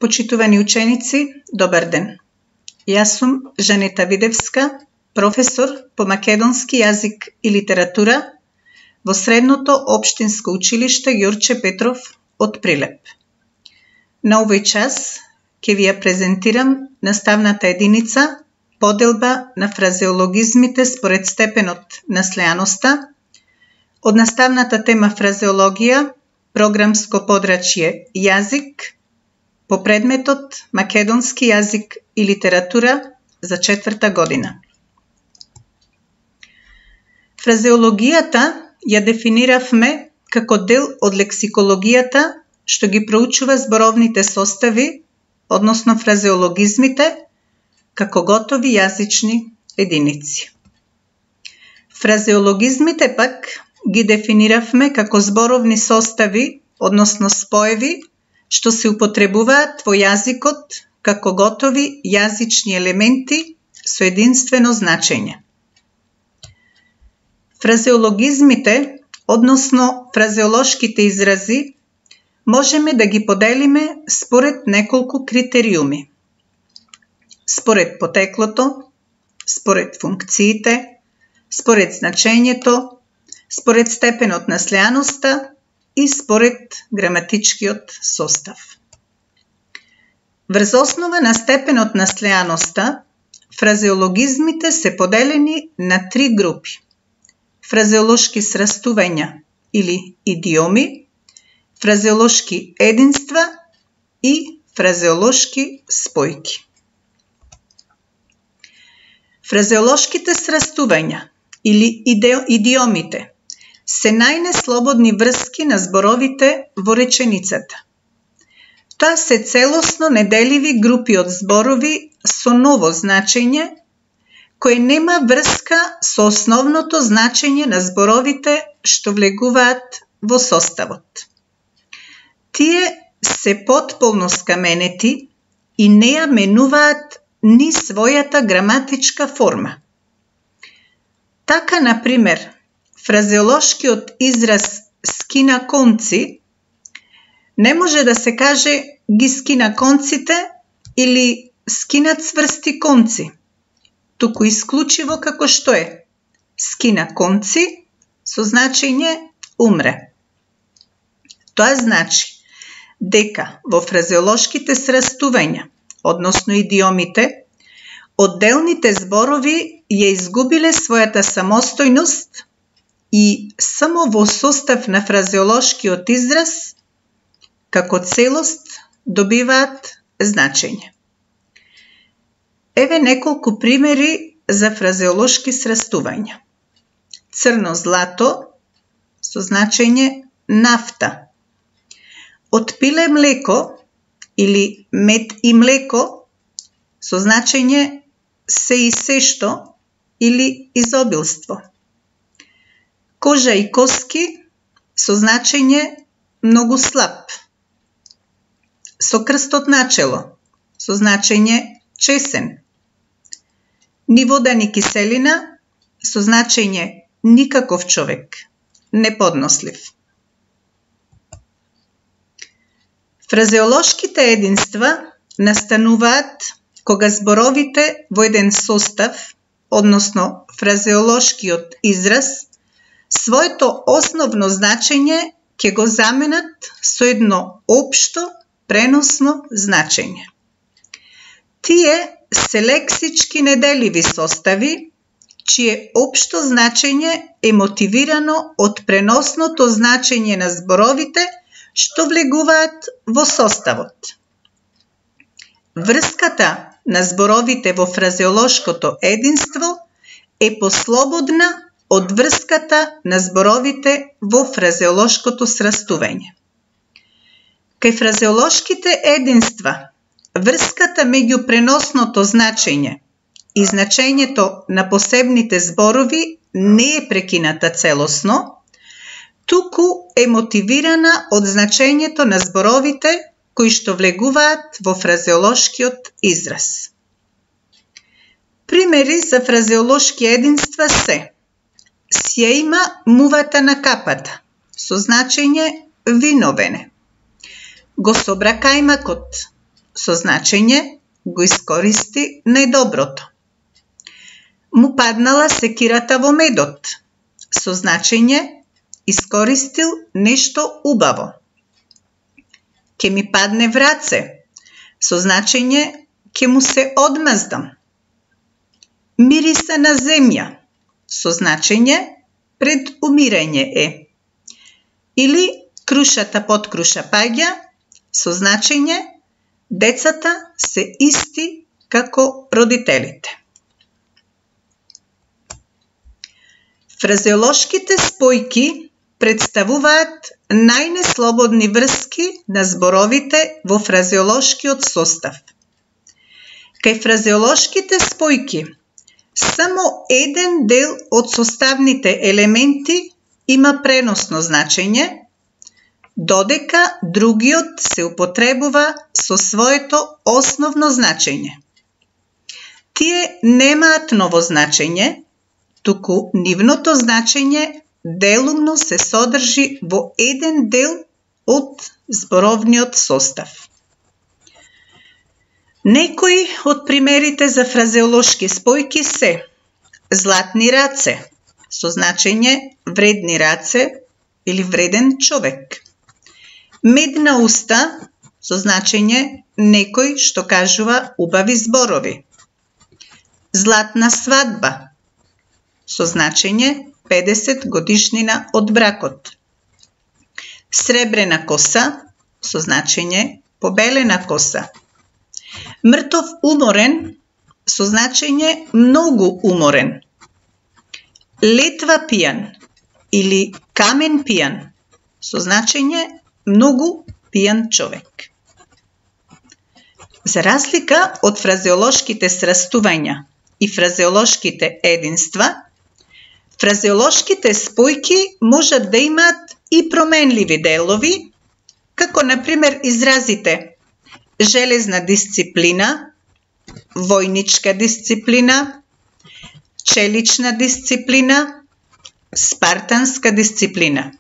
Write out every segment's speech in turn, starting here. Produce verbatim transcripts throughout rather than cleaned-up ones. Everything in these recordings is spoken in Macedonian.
Почитувани ученици, добар ден. Јас сум Жанета Видевска, професор по македонски јазик и литература во Средното општинско училиште Ѓурче Петров од Прилеп. На овој час ќе ви ја презентирам наставната единица поделба на фразеологизмите според степенот на слеаноста од наставната тема фразеологија, програмско подрачје јазик, по предметот македонски јазик и литература за четврта година. Фразеологијата ја дефиниравме како дел од лексикологијата што ги проучува зборовните состави, односно фразеологизмите, како готови јазични единици. Фразеологизмите пак ги дефиниравме како зборовни состави, односно споеви, што се употребуваат во јазикот како готови јазични елементи со единствено значење. Фразеологизмите, односно фразеолошките изрази, можеме да ги поделиме според неколку критериуми. Според потеклото, според функциите, според значењето, според степенот на слеаноста и според граматичкиот состав. Врз основа на степенот на слеаноста, фразеологизмите се поделени на три групи: фразеолошки срастувања или идиоми, фразеолошки единства и фразеолошки спојки. Фразеолошките срастувања или идиомите се најнеслободни врски на зборовите во реченицата. Тоа се целосно неделиви групи од зборови со ново значење, кој нема врска со основното значење на зборовите што влегуваат во составот. Тие се потполно скаменети и не ја менуваат ни својата граматичка форма. Така, например, фразеолошкиот израз скина конци не може да се каже ги скина конците или скина цврсти конци, туку исклучиво како што е скина конци со значење умре. Тоа значи дека во фразеолошките срастувања, односно идиомите, одделните зборови ја изгубиле својата самостојност и само во состав на фразеолошкиот израз, како целост, добиваат значење. Еве неколку примери за фразеолошки срастувања. Црно злато со значење нафта. Од пиле млеко или мед и млеко со значење се и сешто или изобилство. Кожа и коски со значење многу слаб. Со крстот начело со значење чесен. Ни вода ни киселина со значење никаков човек, неподнослив. Фразеолошките единства настануваат кога зборовите во еден состав, односно фразеолошкиот израз, своето основно значење ќе го заменат со едно општо преносно значење. Тие се лексички неделиви состави, чие општо значење е мотивирано од преносното значење на зборовите што влегуваат во составот. Врската на зборовите во фразеолошкото единство е послободна од врската на зборовите во фразеолошкото срастување. Кај фразеолошките единства, врската меѓу преносното значење и значењето на посебните зборови не е прекината целосно, туку е мотивирана од значењето на зборовите кои што влегуваат во фразеолошкиот израз. Примери за фразеолошки единства се: си ја има мувата на капата со значење виновене. Го собра кајмакот со значење го искористи најдоброто. Му паднала секирата во медот, со значење искористил нешто убаво. Ке ми падне в раце, со значење ке му се одмаздам. Мириса на земја, со значење пред умирање е. Или крушата под круша паѓа, со значење децата се исти како родителите. Фразеолошките спојки представуваат најнеслободни врски на зборовите во фразеолошкиот состав. Кај фразеолошките спојки, само еден дел од составните елементи има преносно значење, додека другиот се употребува со своето основно значење. Тие немаат ново значење, туку нивното значење делумно се содржи во еден дел од зборовниот состав. Некои од примерите за фразеолошки спојки се златни раце, со значење вредни раце или вреден човек. Медна уста, со значење некој што кажува убави зборови. Златна свадба, со значење педесет годишнина од бракот. Сребрена коса, со значење побелена коса. Мртов уморен, со значење многу уморен. Летва пијан или камен пијан, со значење многу пијан човек. За разлика од фразеолошките срастувања и фразеолошките единства, фразеолошките спојки можат да имаат и променливи делови, како например изразите железна дисциплина, војничка дисциплина, челична дисциплина, спартанска дисциплина.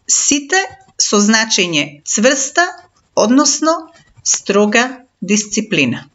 Сите со значење цврста, односно строга дисциплина.